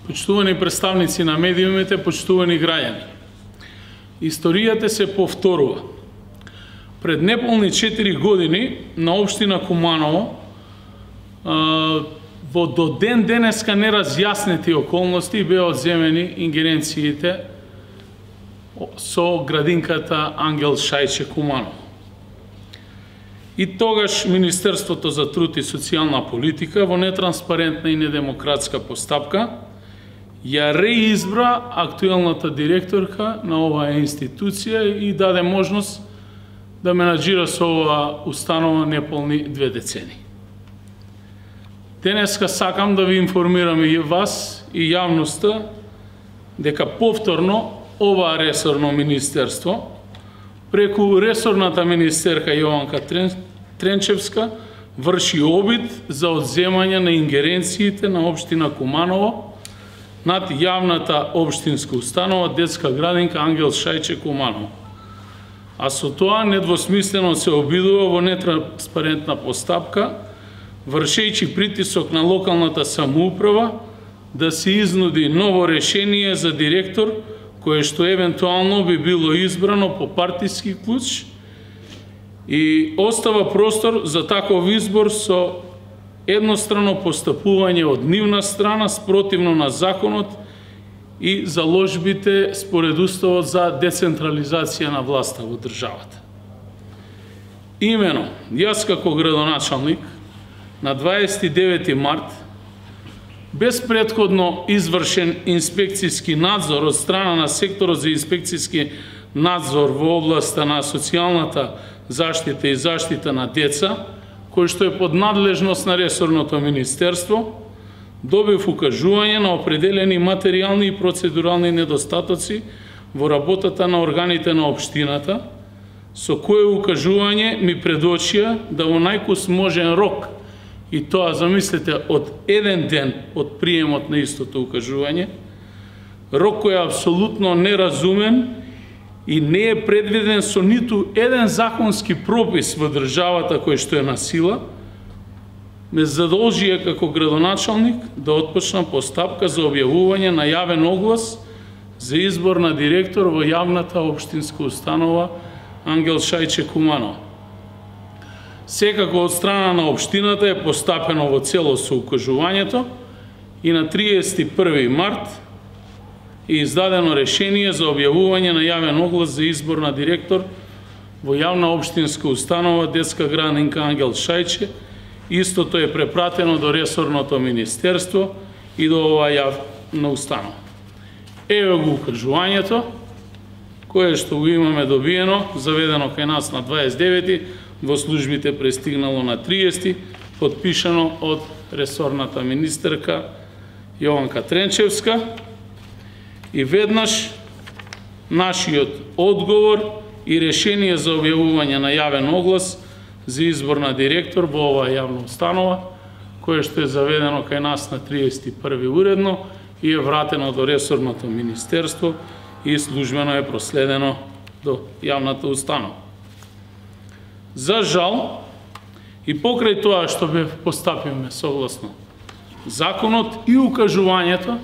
Почитувани представници на медиумите, почитувани граѓани. Историјата се повторува. Пред неполни 4 години на општина Куманово во до ден денеска неразјаснети околности беа одземени ингеренциите со градинката Ангел Шајче Куманово. И тогаш Министерството за труд и социјална политика во нетранспарентна и недемократска постапка ја реизбра актуелната директорка на оваа институција и даде можност да менаџира со оваа установа неполни 2 децени. Денеска сакам да ви информирам и вас и јавноста дека повторно оваа ресорно министерство преку ресорната министерка Јованка Тренчевска врши обид за одземање на ингеренциите на општина Куманово над јавната општинска установа детска градинка Ангел Шајче Куманово. А со тоа недвосмислено се обидува во нетранспарентна постапка, вршејќи притисок на локалната самоуправа да се изнуди ново решение за директор, кое што евентуално би било избрано по партиски клуч и остава простор за таков избор со еднострано постапување од нивна страна спротивно на законот и заложбите според уставот за децентрализација на власта во државата. Имено, јас како градоначалник на 29 март, без претходно извршен инспекцијски надзор од страна на секторот за инспекцијски надзор во областа на социјалната заштита и заштита на деца, кој што е под надлежност на ресорното министерство, добив укажување на определени материјални и процедурални недостатоци во работата на органите на општината, со кое укажување ми предочија да во најкусможен рок, и тоа замислете од 1 ден од приемот на истото укажување, рок кој е апсолутно неразумен и не е предвиден со ниту еден законски пропис во државата кој што е на сила, ме задолжија како градоначалник да отпочнам постапка за објавување на јавен оглас за избор на директор во јавната општинска установа Ангел Шајче Куманово. Секако од страна на општината е постапено во целост со укажувањето и на 31 март е издадено решение за објавување на јавен оглас за избор на директор во јавна општинска установа детска градинка Ангел Шајче. Истото е препратено до ресорното министерство и до оваа јавна установа. Еве го укажувањето, кое што го имаме добиено, заведено кај нас на 29, во службите пристигнало на 30, подпишано од ресорната министерка Јованка Тренчевска. И веднаш нашиот одговор и решение за објавување на јавен оглас за избор на директор во оваа јавна установа, кое што е заведено кај нас на 31 уредно и е вратено до ресорното министерство и службено е проследено до јавната установа. За жал, и покрај тоа што бе постапиме согласно законот и укажувањето,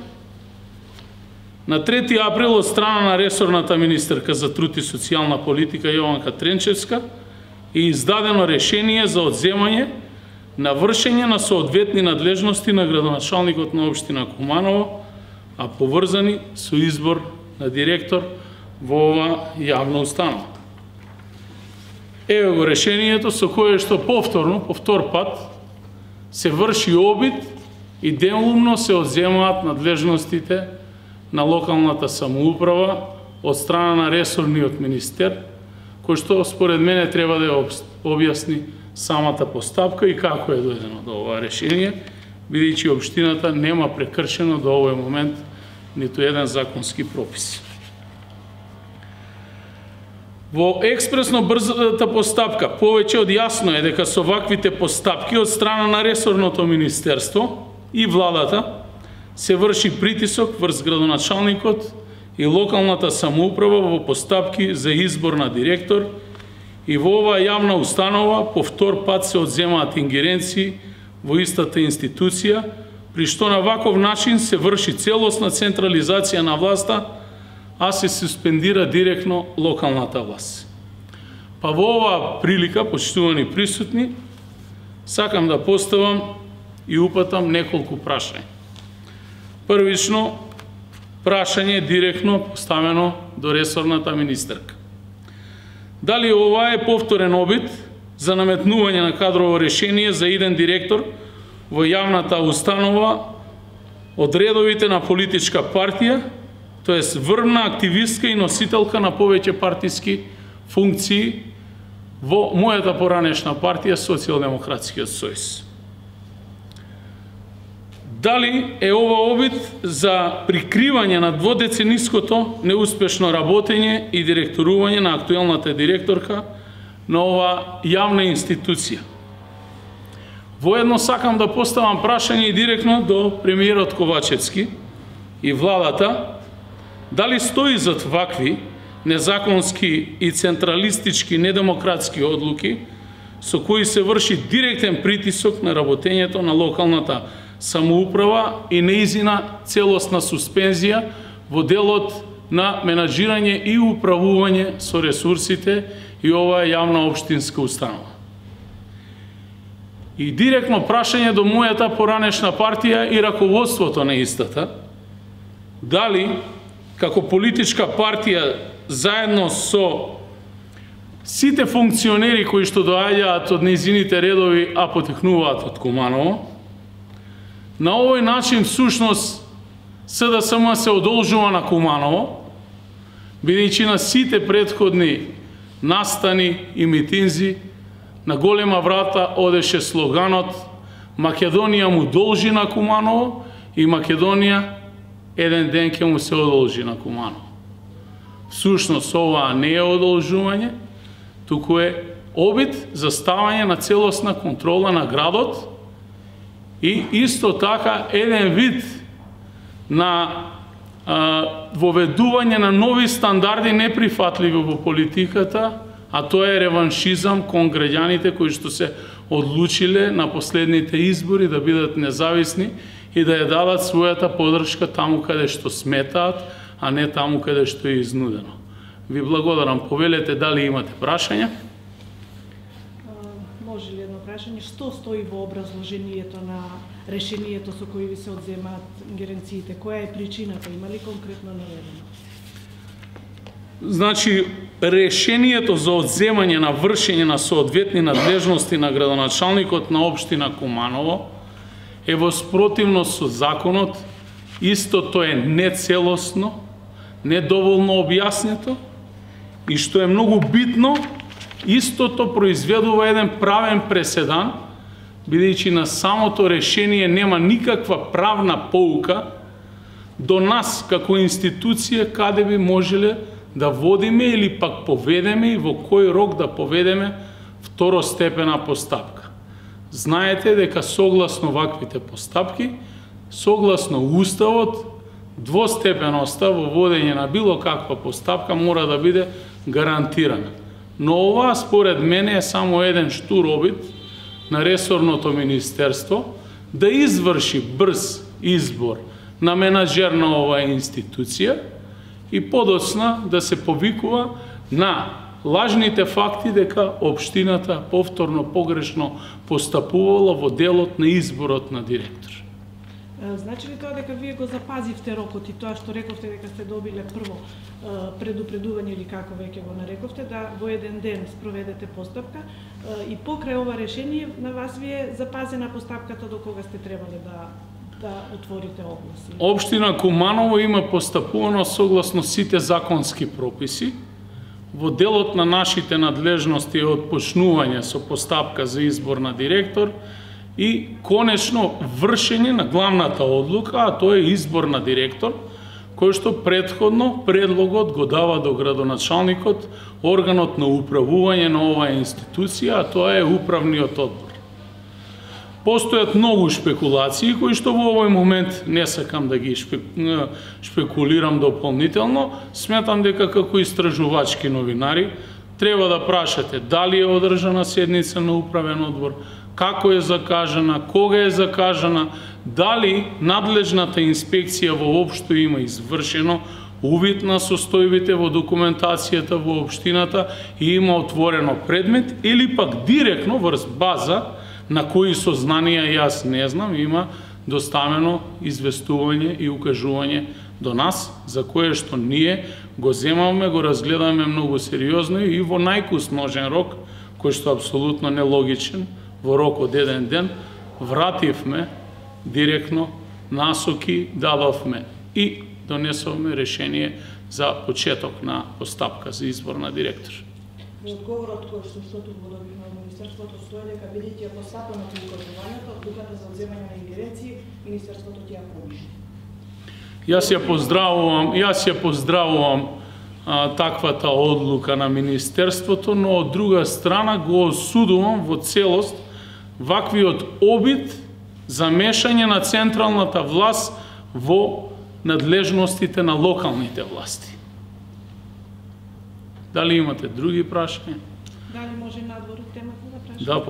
на 3 април од страна на ресорната министерка за труд и социјална политика Јованка Тренчевска е издадено решение за одземање на вршење на соодветни надлежности на градоначалникот на општина Куманово, а поврзани со избор на директор во оваа јавна установа. Еве го решението со кое што повторно, по втор пат, се врши обид и делумно се одземаат надлежностите на локалната самоуправа од страна на ресорниот министер, кој што според мене треба да ја објасни самата постапка и како е дојдено до ова решение, бидејќи општината нема прекршено до овој момент ниту еден законски пропис. Во експресно брзата постапка повеќе од јасно е дека со ваквите постапки од страна на ресорното министерство и владата се врши притисок врз градоначалникот и локалната самоуправа во постапки за избор на директор и во оваа јавна установа по втор пат се одземаат ингеренции во истата институција, при што на ваков начин се врши целосна централизација на власта, а се суспендира директно локалната власт. Па во оваа прилика, почитувани присутни, сакам да поставам и упатам неколку прашања. Првично, прашање директно поставено до ресорната министерка. Дали ова е повторен обид за наметнување на кадрово решение за иден директор во јавната установа од редовите на политичка партија, тоест врвна активистка и носителка на повеќе партиски функции во мојата поранешна партија Социјалдемократскиот сојуз. Дали е ова обид за прикривање на дводецениското неуспешно работење и директорување на актуелната директорка на ова јавна институција? Воедно сакам да поставам прашање и директно до премиерот Ковачевски и владата, дали стои зад вакви незаконски и централистички недемократски одлуки со кои се врши директен притисок на работењето на локалната самоуправа и неизина целосна суспензија во делот на менаџирање и управување со ресурсите и оваа јавна општинска установа. И директно прашање до мојата поранешна партија и раководството на истата, дали како политичка партија заедно со сите функционери кои што доаѓаат од нејзините редови, а потекнуваат од Куманово, на овој начин всушност СДСМ се одолжува на Куманово, бидејќи на сите претходни настани и митинзи на голема врата одеше слоганот Македонија му должи на Куманово и Македонија еден ден ќе му се одолжи на Куманово. Всушност ова не е одолжување, туку е обид за ставање на целосна контрола на градот и исто така еден вид на воведување на нови стандарди неприфатливи во политиката, а тоа е реваншизам кон граѓаните кои што се одлучиле на последните избори да бидат независни и да ја дадат својата подршка таму каде што сметаат, а не таму каде што е изнудено. Ви благодарам. Повелете дали имате прашања? Може ли едно прашање? Што стои во образложението на решението со кои ви се одземаат ингеренциите? Која е причината? Има ли конкретно наведено? Значи, решението за одземање на вршење на соодветни надлежности на градоначалникот на општина Куманово е во спротивност со законот, истото е нецелосно, недоволно објаснето и што е многу битно, истото произведува еден правен преседан, бидејќи на самото решение нема никаква правна поука до нас како институција каде би можеле да водиме или пак поведеме и во кој рок да поведеме второстепена постапка. Знаете дека согласно ваквите постапки, согласно Уставот, двостепеноста во водење на било каква постапка мора да биде гарантирана. Но ова, според мене, е само еден штур обид на ресорното министерство да изврши брз избор на менаџер на оваа институција и подоцна да се повикува на лажните факти дека општината повторно погрешно постапувала во делот на изборот на директор. Значи ли тоа дека вие го запазивте рокот и тоа што рековте дека сте добиле прво предупредување или како веќе го нарековте, да во еден ден спроведете постапка и покрај ова решение на вас ви е запазена постапката до кога сте требале да отворите огласи? Општина Куманово има постапувано согласно сите законски прописи. Во делот на нашите надлежности е отпочнување со постапка за избор на директор и конечно вршење на главната одлука, а тоа е избор на директор, кој што претходно предлогот го дава до градоначалникот, органот на управување на оваа институција, а тоа е управниот одбор. Постојат многу шпекулации кои што во овој момент не сакам да ги шпекулирам дополнително. Сметам дека како истражувачки новинари треба да прашате дали е одржана седница на управен одбор, како е закажана, кога е закажана, дали надлежната инспекција воопшто има извршено увид на состојбите во документацијата во општината и има отворено предмет, или пак директно врз база на кои сознанија јас не знам, има доставено известување и укажување до нас, за кое што ние го земаме, го разгледаме многу сериозно и во најкусможен рок, кој што е апсолутно нелогичен, во рок од еден ден, вративме директно насоки, дадовме и донесовме решение за почеток на постапка за избор на директор. Во одговорот кој што тук го добивме од Министерството стои дека бидејќи е постапено укажувањето, одлуката за одземање на ингеренции, Министерството ќе ја поништи. Јас ја поздравувам таквата одлука на Министерството, но од друга страна го осудувам во целост ваквиот обид за мешање на централната власт во надлежностите на локалните власти. Дали имате други прашања? Дали може надвор темата да прашање? Да,